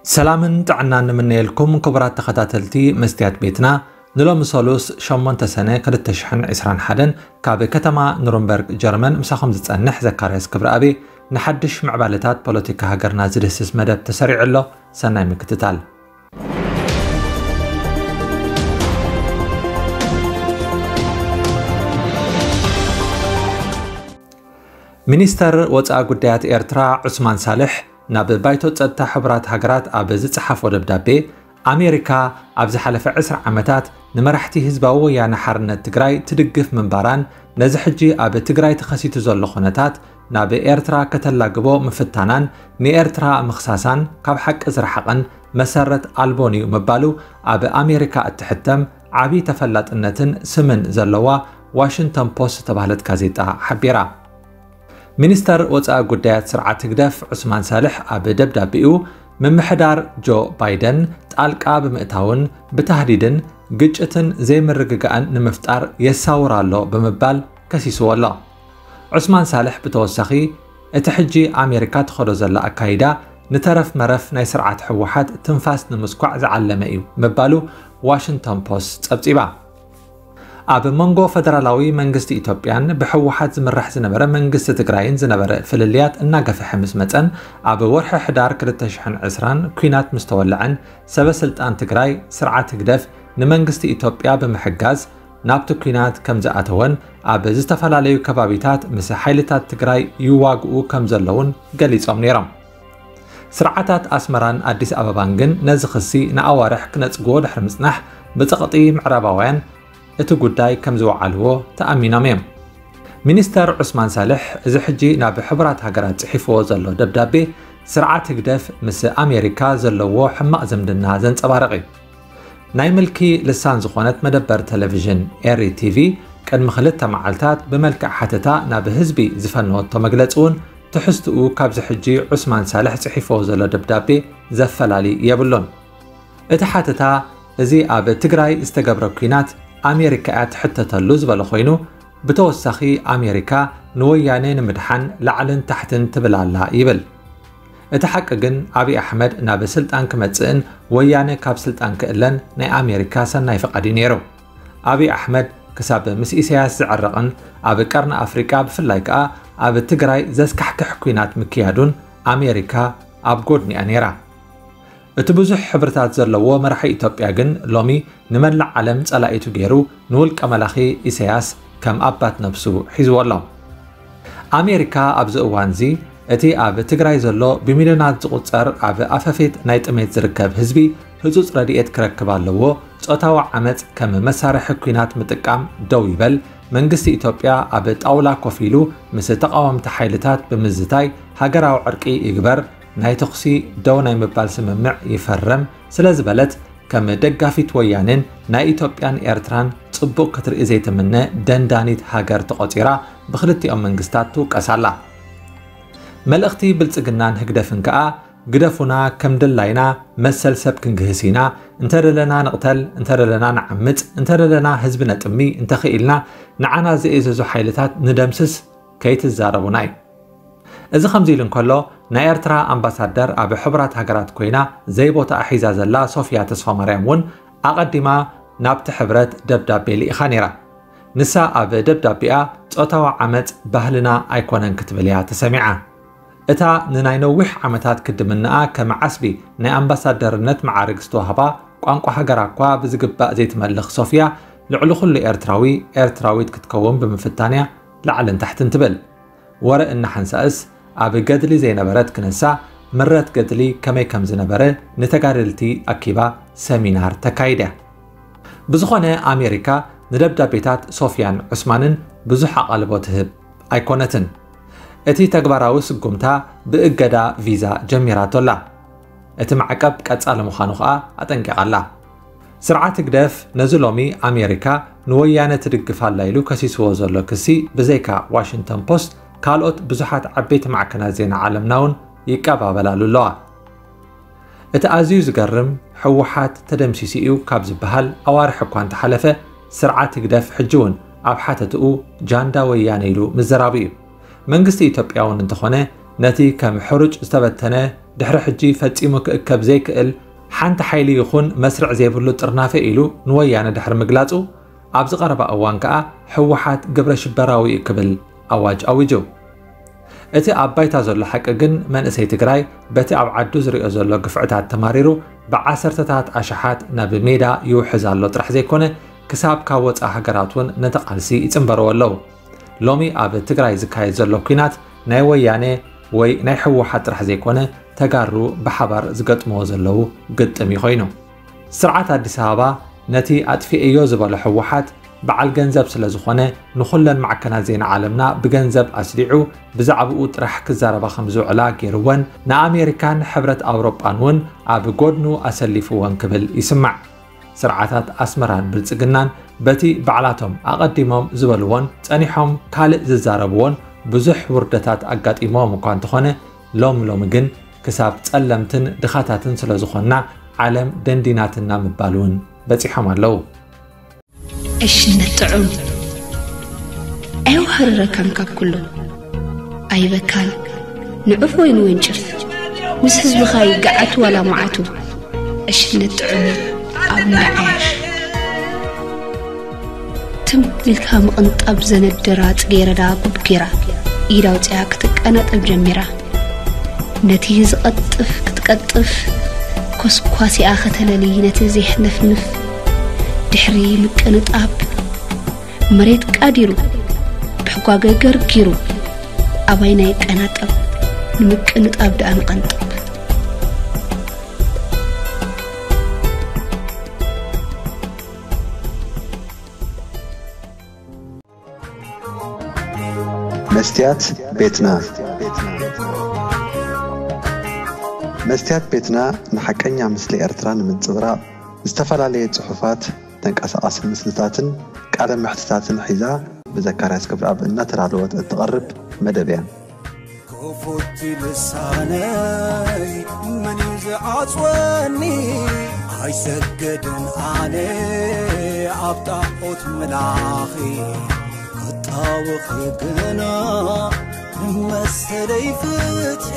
ሰላምን ጥዕናን ንምነየልኩም ክቡራት ተኸታተልቲ መስትያት ቤትና። ንሎሚ ሰሉስ ሸሞንተ ሰነ ክልተ ሽሕን ዕስራን ሓደን ካብ ከተማ ኑርንበርግ ጀርመን ምሳኹም ዝጸንሕ ዘካርያስ ክብረኣብ። ንሓድሽ ምዕባለታት ፖለቲካ ሃገርና ዝድህስስ መደብ ተሰሪዑ ኣሎ። ሰናይ ምክትታል። ሚኒስተር ወጻኢ ጉዳያት ኤርትራ ዑስማን ሳልሕ ናብ ባይቶ ጸጥታ ሕቡራት ሃገራት ኣብ ዝጸሓፎ ደብዳቤ፣ ኣሜሪካ ኣብ ዝሓለፈ ዕስራ ዓመታት ንመራሕቲ ህዝባዊ ወያነ ሓርነት ትግራይ ትድግፍ ምንባራን ነዚ ሕጂ ኣብ ትግራይ ተኸሲቱ ዘሎ ኩነታት ናብ ኤርትራ ከተላግቦ ምፍታናን ንኤርትራ ምኽሳሳን ካብ ሓቂ ዝረሓቐን መሰረት ኣልቦን እዩ ምባሉ ኣብ ኣሜሪካ እትሕተም ዓቢ ተፈላጥነትን ስምን ዘለዋ ዋሽንግተን ፖስት ዝተባህለት ጋዜጣ ሓቢራ። ሚኒስተር ወጻኢ ጉዳያት ስርዓት ህግደፍ ዑስማን ሳልሕ ኣብ ደብዳቤኡ፣ ምምሕዳር ጆ ባይደን ጣልቃ ብምእታውን ብታህዲድን ግጭትን ዘይምርግጋእን ንምፍጣር የሳውር ኣሎ ብምባል ከሲስዎ ኣሎ። ዑስማን ሳልሕ ብተወሳኺ፣ እቲ ሕጂ ኣሜሪካ ትኸዶ ዘላ ኣካይዳ ንተረፍ መረፍ ናይ ስርዓት ህወሓት ትንፋስ ንምስኳዕ ዝዓለመ እዩ ምባሉ ዋሽንግተን ፖስት ጸብጺባ። ኣብ መንጎ ፈደራላዊ መንግስቲ ኢትዮጵያን ብህወሓት ዝምራሕ ዝነበረ መንግስቲ ትግራይን ዝነበረ ፍልልያት እናገፍሐ ምስ መጸን፣ ኣብ ወርሒ ሕዳር ክልተ ሽሕን ዕስራን ኲናት ምስ ተወልዐን፣ ሰበ ስልጣን ትግራይ ስርዓት ህግደፍ ንመንግስቲ ኢትዮጵያ ብምሕጋዝ ናብቲ ኲናት ከም ዝኣተወን ኣብ ዝተፈላለዩ ከባቢታት ምስ ሓይልታት ትግራይ ይዋግኡ ከም ዘለውን ገሊጾም ነይሮም። ስርዓታት ኣስመራን ኣዲስ ኣበባን ግን ነዚ ክሲ ንኣዋርሕ ክነጽግዎ ድሕሪ ምጽናሕ፣ ብጸቕጢ ምዕራባውያን እቲ ጉዳይ ከም ዝወዓልዎ ተኣሚኖም እዮም። ሚኒስተር ዑስማን ሳልሕ እዚ ሕጂ ናብ ሕቡራት ሃገራት ጽሒፍዎ ዘሎ ደብዳቤ፣ ስርዓት ህግደፍ ምስ ኣሜሪካ ዘለዎ ሕማቕ ዝምድና ዘንጸባርቕ እዩ። ናይ ምልኪ ልሳን ዝኾነት መደበር ቴሌቪዥን ኤሪ ቲቪ ቅድሚ ክልተ መዓልታት ብመልክዕ ሓተታ ናብ ህዝቢ ዝፈነወቶ መግለጺ እውን ትሕዝትኡ ካብዚ ሕጂ ዑስማን ሳልሕ ጽሒፍዎ ዘሎ ደብዳቤ ዘፈላሊ የብሉን። እቲ ሓተታ፣ እዚ ኣብ ትግራይ ዝተገብረ ኲናት ኣሜሪካ እያ ትሕተተሉ ዝበለ ኮይኑ፣ ብተወሳኺ ኣሜሪካ ንወያነ ንምድሓን ላዕልን ታሕትን ትብል ኣላ ይብል። እቲ ሓቂ ግን፣ ኣብይ ኣሕመድ ናብ ስልጣን ክመጽእን ወያነ ካብ ስልጣን ክእለን ናይ ኣሜሪካ ሰናይ ፍቓድ እዩ ነይሩ። ኣብይ ኣሕመድ ክሳብ ምስ ኢሳያስ ዝዕረቕን ኣብ ቀርኒ ኣፍሪቃ ብፍላይ ከኣ ኣብ ትግራይ ዘስካሕክሕ ኲናት ምክያዱን ኣሜሪካ ኣብ ጎድኒኣ ነይራ። እቲ ብዙሕ ሕብርታት ዘለዎ መራሒ ኢትዮጵያ ግን ሎሚ ንመላእ ዓለም ጸላኢቱ ገይሩ ንውልቀ መላኺ ኢሳያስ ከም ኣባት ነብሱ ሒዝዎ ኣሎ። ኣሜሪካ ኣብዚ እዋንዚ እቲ ኣብ ትግራይ ዘሎ ብሚልዮናት ዝቑጸር ኣብ ኣፈፌት ናይ ጥሜት ዝርከብ ህዝቢ ህጹጽ ረድኤት ክረክብ ኣለዎ፣ ጾታዊ ዓመጽ ከም መሳርሒ ኲናት ምጥቃም ደው ይበል፣ መንግስቲ ኢትዮጵያ ኣብ ጣውላ ኮፍ ኢሉ ምስ ተቓወምቲ ሓይልታት ብምዝታይ ሃገራዊ ዕርቂ ይግበር፣ ናይ ተኹሲ ደው ናይ ምባል ስምምዕ ይፈርም ስለ ዝበለት፣ ከም ደጋፊት ወያኔን ናይ ኢትዮጵያን ኤርትራን ጽቡቕ ክትርኢ ዘይትምነ ደንዳኒት ሃገር ተቖጺራ ብክልቲኦም መንግስታት ትውቀስ ኣላ። መልእኽቲ ብልጽግናን ህግደፍን ከኣ፣ ግደፉና፣ ከም ድላይና መሰል ሰብ ክንግህስ ኢና፣ እንተደለና ንቕተል፣ እንተደለና ንዓምጽ፣ እንተደለና ህዝቢ ነጥሚ፣ እንተኽኢልና ንዓና ዘእዘዙ ሓይልታት ንደምስስ፣ ከይትዛረቡና እዩ። እዚ ከምዚ ኢሉ እንከሎ፣ ናይ ኤርትራ ኣምባሳደር ኣብ ሕቡራት ሃገራት ኮይና ዘይቦታኣ ሒዛ ዘላ ሶፍያ ተስፋማርያም እውን ኣቐዲማ ናብቲ ሕብረት ደብዳቤ ልኢኻ ነይራ። ንሳ ኣብ ደብዳቤኣ፣ ጾታዊ ዓመጽ ባህልና ኣይኮነን ክትብል እያ ተሰሚዓ። እታ ንናይ ነዊሕ ዓመታት ክድምንኣ ከም ዓስቢ ናይ ኣምባሳደርነት መዓርግ ዝተዋህባ፣ ቋንቋ ሃገራ እኳ ብዝግባእ ዘይትመልኽ ሶፍያ፣ ልዕሊ ኩሉ ኤርትራዊ፣ ኤርትራዊት ክትከውን ብምፍታንያ ላዕልን ታሕትን ትብል። ወረ እናሓንሳእስ ኣብ ገድሊ ዘይነበረት ክነሳ፣ ምረት ገድሊ ከመይ ከም ዝነበረ ንተጋደልቲ ኣኪባ ሰሚናር ተካይድ እያ። ብዝኾነ፣ ኣሜሪካ ንደብዳቤታት ሶፍያን ዑስማንን ብዙሕ ኣቓልቦ ትህብ ኣይኮነትን። እቲ ተግባራዊ ስጉምታ ብእገዳ ቪዛ ጀሚራቶ ኣላ። እቲ ማዕቀብ ቀጻሊ ምዃኑ ከኣ ኣጠንቂቓ ኣላ። ስርዓት ህግደፍ ነዚ ሎሚ ኣሜሪካ ንወያነ ትድግፍ ኣላ ኢሉ ከሲስዎ ዘሎ ክሲ ብዘይካ ዋሽንግተን ፖስት፣ ካልኦት ብዙሓት ዓበይቲ ማዕከናት ዜና ዓለምና እውን ይቀባበላሉ ኣለዋ። እቲ ኣዝዩ ዝገርም፣ ህወሓት ተደምሲሱ እዩ ካብ ዝበሃል ኣዋርሕ እኳ እንተሓለፈ፣ ስርዓት ህግደፍ ሕጂ እውን ኣብ ሓተትኡ ጃንዳ ወያነ ኢሉ ምዝራቡ እዩ። መንግስቲ ኢትዮጵያ እውን እንተኾነ፣ ነቲ ከም ሕሩጭ ዝተበተነ፣ ድሕሪ ሕጂ ፈጺሙ ክእከብ ዘይክእል ሓንቲ ሓይሊ ይኹን መስርዕ ዘይብሉ ጥርናፈ ኢሉ ንወያነ ድሕሪ ምግላጹ፣ ኣብዚ ቀረባ እዋን ከኣ ህወሓት ግብረ ሽበራዊ እዩ ክብል ኣዋጅ ኣዊጁ። እቲ ኣብ ባይታ ዘሎ ሓቂ ግን፣ መንእሰይ ትግራይ በቲ ኣብ ዓዱ ዝሪኦ ዘሎ ግፍዕታት ተማሪሩ፣ ብዓሰርተታት ኣሽሓት ናብ ሜዳ ይውሕዝ ኣሎ ጥራሕ ዘይኮነ፣ ክሳብ ካብ ወፃኢ ሃገራት እውን ነቲ ቃልሲ ይፅንበርዎ ኣለዉ። ሎሚ ኣብ ትግራይ ዝካየድ ዘሎ ኲናት ናይ ወያነ ወይ ናይ ህወሓት ጥራሕ ዘይኮነ፣ ተጋሩ ብሓባር ዝገጥምዎ ዘለዉ ግጥም እዩ ኮይኑ። ስርዓት ኣዲስ ኣበባ ነቲ ኣጥፊኤዮ ዝበሎ ህወሓት በዓል ገንዘብ ስለ ዝኾነ፣ ንኹለን ማዕከናት ዜና ዓለምና ብገንዘብ ኣስሊዑ ብዛዕባኡ ጥራሕ ክዛረባ ከም ዝውዕላ ገይርወን፣ ንኣሜሪካን ሕብረት ኣውሮጳን እውን ኣብ ጎድኑ ኣሰሊፍወን ክብል ይስማዕ። ስርዓታት ኣስመራን ብልጽግናን በቲ ባዕላቶም ኣቐዲሞም ዝበልዎን ጸኒሖም ካልእ ዝዛረብዎን ብዙሕ ውርደታት ኣጋጢሞም እኳ እንተኾነ፣ ሎም ሎሚ ግን ክሳብ ጸለምትን ድኻታትን ስለ ዝኾንና ዓለም ደንዲናትና ምባል እውን በጺሖም ኣለዉ። ዕሽነት ጥዑም ኣየውሃርረካን ካብ ኩሉ ኣይበካን ንዑፍ ወይ ንወንጭፍ ምስ ህዝብኻ ይገዓት ዋላ መዓቱ ዕሽነት ጥዑም ኣብ ምርዓሽ ትም ኢልካ ምቕንጣብ ዘነደራ ጽጌረዳ ጉብጊራ ኢድ ኣውፂኣ ክትቀናጠብ ጀሚራ ነቲ ዝቐጥፍ ክትቀጥፍ ኮስኳሲኣ ከተለሊ ነቲ ዜሕነፍንፍ ድሕሪ ምቅንጣብ መሬት ቃዲሩ ብሕጓገ ገርጊሩ ኣባይና ይቀናጠብ ንምቅንጣብ ደኣ ንቐንጥብ። መስትያት ቤትና መስትያት ቤትና ንሓቀኛ ምስሊ ኤርትራ ንምንጽብራቕ ዝተፈላለየ ጽሑፋት፣ ተንቀሳቓሲ ምስልታትን ቃለ መሕትታትን ሒዛ ብዘካርያስ ክብረኣብ እናተዳለወት እትቐርብ መደብ እያ። ክፉት ልሳነይ መን እዩ ዝዓጽወኒ? ኣይሰገድን ኣነ ኣብ ጣዖት ምላኺ ክጣወኺ ግና ንመሰለይ ፍትሒ